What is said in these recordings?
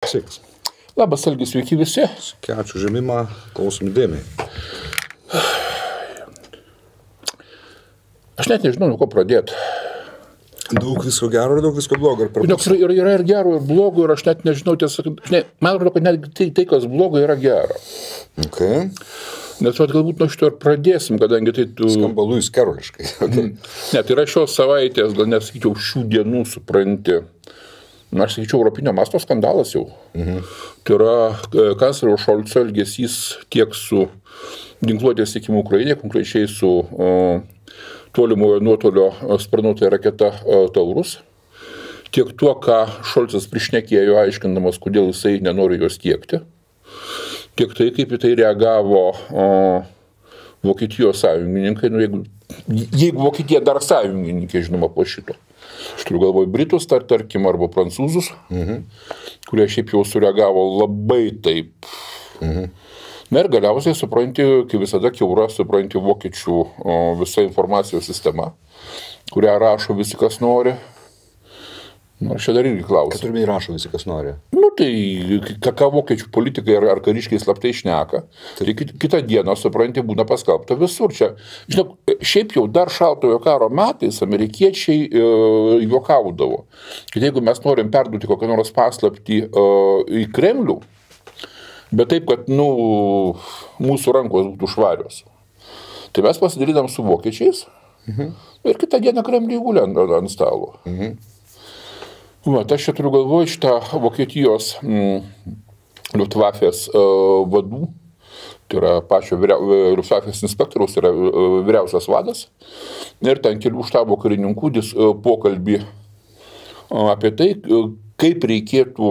Sveikas. Labas, Algis, sveiki visi. Ačiū žemimą, klausom įdėmiai. Aš net nežinau, nuo ko pradėti. Daug visko gero ir daug visko blogo. Yra ir gero, ir blogo, ir aš net nežinau, man atrodo, kad net tai, kas blogo, yra gera. Okay. Nes galbūt nuo šito ir pradėsim, kadangi tai tu... Skamba Luis Keroliškai. Okay. Ne, tai yra šios savaitės, gal nesakyčiau, šių dienų supranti. Aš sakyčiau, europinio masto skandalas jau. Tai yra kanclerio Šolco elgesys tiek su ginkluotės tiekimu Ukrainai, konkrečiai su tolimojo nuotolio sparnuotąja raketa Taurus, tiek tuo, ką Šolcas prišnekėjo, aiškindamas, kodėl jisai nenori jos tiekti, tiek tai, kaip į tai reagavo Vokietijos sąjungininkai, jeigu Vokietija dar sąjungininkai, žinoma, po šito. Aš turiu galvoj Britus, tarkim, arba Prancūzus, kurie šiaip jau sureagavo labai taip. Na ir galiausiai supranti, kaip visada kiaura, supranti vokiečių visa informacijos sistema, kurią rašo visi, kas nori. Na, aš čia dar irgi klausiu. Kad turime įrašo visi, kas nori. Nu, tai ką vokiečių politikai ar kariškiai slaptai šneka, tai kitą dieną, supranti, būna paskelbta visur. Čia, žinok, šiaip jau dar šaltojo karo metais amerikiečiai juokaudavo, kad jeigu mes norim perduoti kokią nors paslaptį į Kremlių, bet taip, kad, mūsų rankos būtų švarios, tai mes pasidarydam su vokiečiais ir kitą dieną Kremliui gulė ant stalo. Aš čia turiu galvoj šitą Vokietijos Luftwaffės vadų, tai yra pačio Luftwaffės inspektoriaus, tai yra vyriausias vadas, ir ten kelių štabo karininkų pokalbį apie tai, kaip reikėtų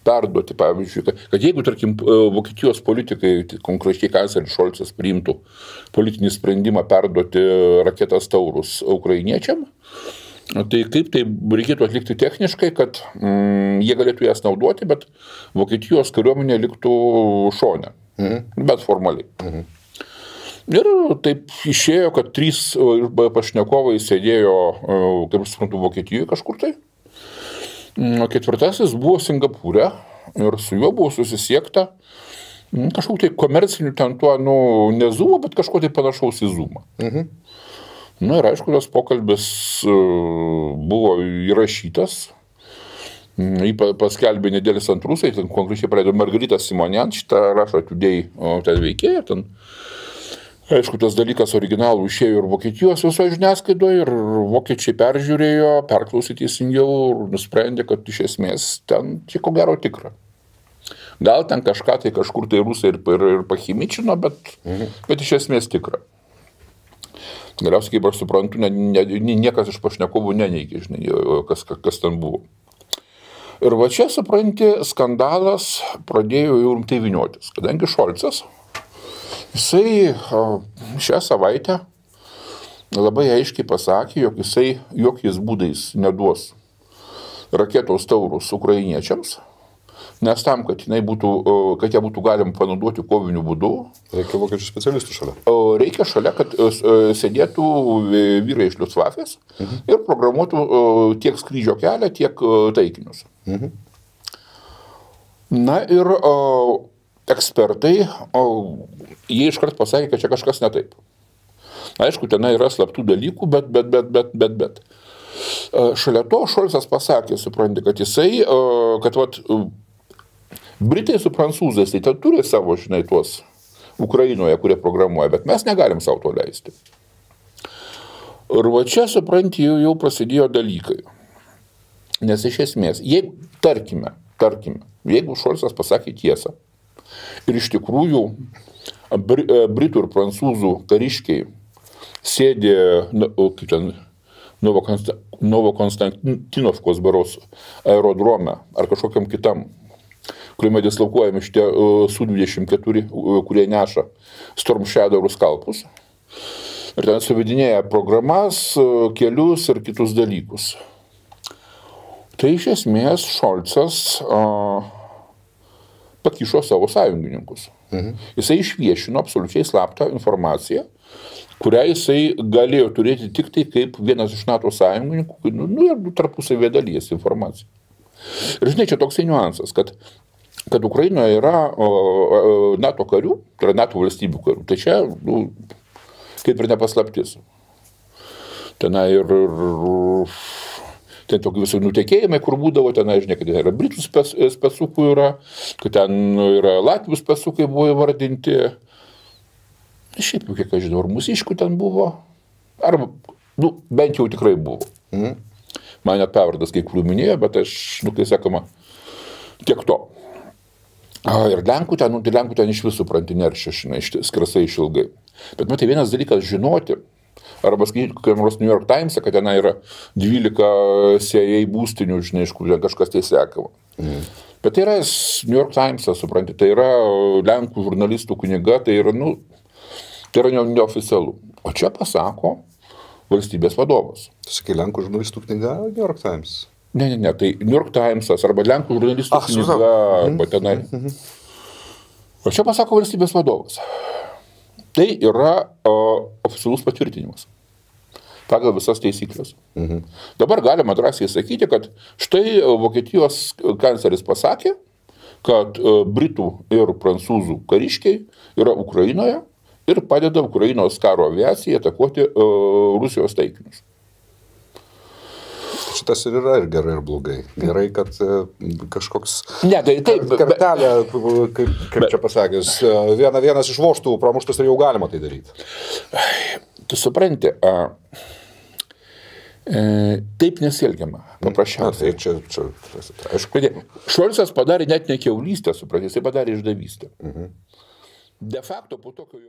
perduoti, pavyzdžiui, kad jeigu, tarkim, Vokietijos politikai, konkrečiai kancleris Šolcas, priimtų politinį sprendimą perduoti raketas Taurus ukrainiečiam, tai kaip tai reikėtų atlikti techniškai, kad jie galėtų jas naudoti, bet Vokietijos kariuomenė liktų šone, bet formaliai. Ir taip išėjo, kad 3 pašnekovai sėdėjo, kaip suprantu, Vokietijoje kažkur tai. O 4 buvo Singapūre ir su juo buvo susisiekta kažkokiu tai komerciniu ten tuo, ne Zoom'o, bet kažko tai panašaus į Zoom'ą. Na ir aišku, tas pokalbis buvo įrašytas, jį paskelbė nedėlis ant rusai, ten konkrečiai praleido Margarita Simonian, šitą rašo Today ten veikėja, ten, aišku, tas dalykas originalų išėjo ir Vokietijos visoje žiniasklaidoje, ir vokiečiai peržiūrėjo, perklausė teisingiau ir nusprendė, kad iš esmės ten ko gero tikra. Gal ten kažką tai kažkur tai rusai ir pachimičino, bet iš esmės tikra. Galiausiai, kaip aš suprantu, niekas iš pašnekovų neneigė, žinai, kas ten buvo. Ir va čia, supranti, skandalas pradėjo jau rimtai vyniotis, kadangi Šolcas, jisai šią savaitę labai aiškiai pasakė, jog jisai jokiais būdais neduos raketos Taurus ukrainiečiams, nes tam, kad ją būtų galima panaudoti koviniu būdu, reikia vokiečių specialistų šalia. Reikia šalia, kad sėdėtų vyrai iš Luftwaffės ir programuotų tiek skrydžio kelią, tiek taikinius. Na ir ekspertai, jie iškart pasakė, kad čia kažkas ne taip. Aišku, ten yra slaptų dalykų, bet. Šalia to Šolcas pasakė, supranti, kad jisai, Britai su prancūzais, tai ten turi savo, žinai, tuos Ukrainoje, kurie programuoja, bet mes negalim savo to leisti. Ir va čia, supranti, jau prasidėjo dalykai. Nes iš esmės, jeigu, tarkime, jeigu Šolcas pasakė tiesą, ir iš tikrųjų Britų ir prancūzų kariškiai sėdė, kaip ten, Novokonstantinovkos baros aerodrome ar kažkokiam kitam, kuriame dislokuojami šitie Su-24, kurie neša Storm Shadow skalpus. Ir ten suvedinėja programas, kelius ir kitus dalykus. Tai iš esmės Šolcas pakišo savo sąjungininkus. Jisai išviešino absoliučiai slaptą informaciją, kurią jisai galėjo turėti tik tai kaip vienas iš NATO sąjungininkų, ir tarpusavėje dalyjasi informaciją. Ir žinai, čia toksai niuansas, kad Ukrainoje yra NATO karių, tai yra NATO valstybių karių. Tai čia, kaip ir nepaslaptis. Tenai ir ten tokie visų nutekėjimai, kur būdavo, tenai, žinai, kad yra Britų specukų yra, kad ten yra Latvių specukai buvo įvardinti. Šiaip jau, kiek aš žinau, ir mūsiškų ten buvo. Arba, bent jau tikrai buvo. Man net pavardas kai kurių minėjo, bet aš, kai sakoma, tiek to. Ir Lenkų ten iš visų supranti neršia, skrasai išilgai. Bet matai, vienas dalykas žinoti, arba skaityti kokiam nors New York Times, kad ten yra 12 CIA būstinių, žinai, iš kur kažkas tai sekama. Bet tai yra New York Times, supranti, tai yra Lenkų žurnalistų knyga, tai yra, tai yra neoficialu. O čia pasako valstybės vadovas. Tu sakai, Lenkų žurnalistų knyga New York Times? Ne, tai New York Timesas arba Lenkų žurnalistų knyga, arba tenai. O čia pasako valstybės vadovas. Tai yra oficialus patvirtinimas pagal visas taisyklės. Dabar galima drąsiai sakyti, kad štai Vokietijos kancleris pasakė, kad Britų ir Prancūzų kariškiai yra Ukrainoje ir padeda Ukrainos karo aviacijai atakuoti Rusijos taikinius. Šitas ir yra ir gerai, ir blogai. Gerai, kad kažkoks kartelė, kaip čia pasakęs, vienas iš voštų pramuštas ir jau galima tai daryti. Tu supranti, taip nesielgiama, paprasčiausiai. Aišku, Šolcas padarė net ne kiaulystę, supranti, jisai padarė išdavystę. De facto po tokio